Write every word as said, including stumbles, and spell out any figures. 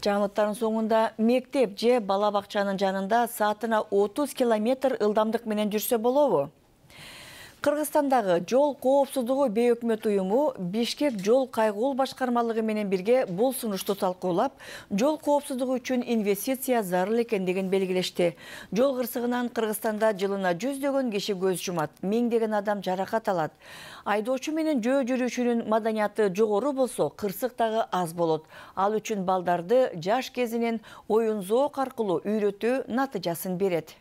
Жаңылыктардын соңунда мектеп же бала бакчанын жанында саатына отуз километр ылдамдык менен жүрсө болобу? Кыргызстандагы жол коопсуздугу бейөкмөт уюму Бишкек жол кайгуул башкармалыгы менен бирге бул сунушту талкуулап, жол коопсуздугу үчүн инвестиция зарыл экендигин белгилешти. Жол кырсыгынан Кыргызстанда жылына жүздөгөн киши көз жумат, миңдеген адам жаракат алат. Айдоочу менен жөө жүрүүчүнүн маданияты жогору болсо, кырсык дагы аз болот. Ал үчүн балдарды жаш кезинен оюн зоок аркылуу үйрөтүү натыйжасын берет.